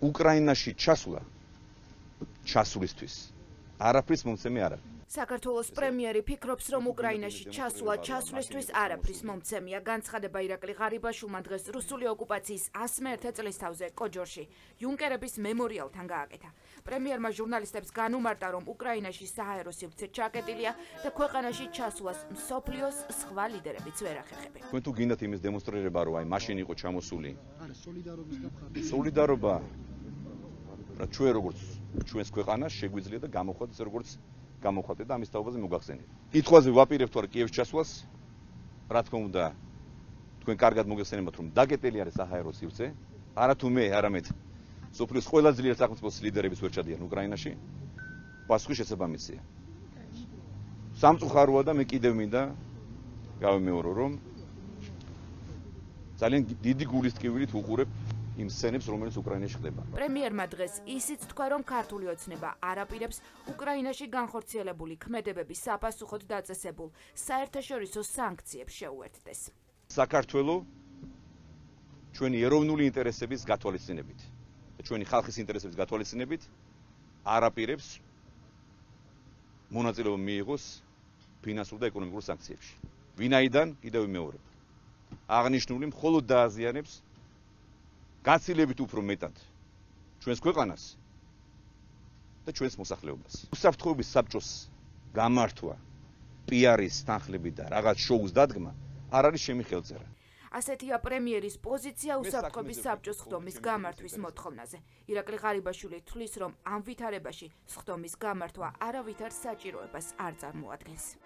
უკრაინაში ჩასვლისთვის არაფრის მომცემი არ არის. საქართველოს პრემიერი ფიქრობს, რომ უკრაინაში ჩასვლისთვის არაფრის მომცემია. განცხადება ირაკლი ღარიბაშვილმა დღეს რუსული ოკუპაციის 101 წლისთავზე კოჯორში იუნკერების მემორიალთან გააკეთა. პრემიერმა ჟურნალისტებს განუმარტა, რომ უკრაინაში საჰაერო სივრცე ჩაკეტილია და ქვეყანაში ჩასვლას მსოფლიოს სხვა ლიდერებიც ვერ ახერხებენ. თქვენ თუ გინდათ იმის დემონსტრირება, რომ აი მაშინ იყო ჩამოსული სოლიდარობა, რა ჩვენ როგორც ჩვენს ქვეყანას შეგვიძლია და გამოხვალთ ისე როგორც გამოხვალთ და ამის თაობაზე მოგახსენეთ. კითხვაზე ვაპირებთ თუ არა კიევს ჩასვლას, რა თქმა უნდა, თქვენ კარგად მოგეხსენებათ, რომ დაგეტელი არის საჰაერო სივრცე, არა თუ მე, არამედ სოფლის ყველა ძლიერ სახელმწიფოს ლიდერების ვერ ჩადიან უკრაინაში, პასუხი შესაბამისია. სამწუხაროა და მე კიდევ მინდა გავიმეორო, რომ ძალიან დიდი გულის ტკივილით უყურებ იმ სცენებს, რომელიც უკრაინაში ხდება. პრემიერმა დღეს ისიც თქვა, რომ ქართული ოცნება არ აპირებს უკრაინაში განხორციელებული ქმედებების საპასუხოდ დაწესებულ საერთაშორისო სანქციებს შეუერთდეს. საქართველო ჩვენი ეროვნული ინტერესების გათვალისწინებით და ჩვენი ხალხის ინტერესების გათვალისწინებით არ აპირებს მონაწილეობა მიიღოს ფინანსურ და ეკონომიკურ სანქციებში. ვინაიდან, კიდევ ვიმეორებ, აღნიშნული მხოლოდ დააზიანებს გაცილებით უფრო მეტად ჩვენს ქვეყანას და ჩვენს მოსახლეობას. უსაფრთხოების საბჭოს გამართვა, პიარის თანხლები და რაღაც შოუს დადგმა არ არის ჩემი ხელწერა. ასეთია პრემიერის პოზიცია უსაფრთხოების საბჭოს სხდომის გამართვის მოთხოვნაზე. ირაკლი ღარიბაშვილი თვლის, რომ ამ ვითარებაში სხდომის გამართვა არავითარ საჭიროებას არ წარმოადგენს.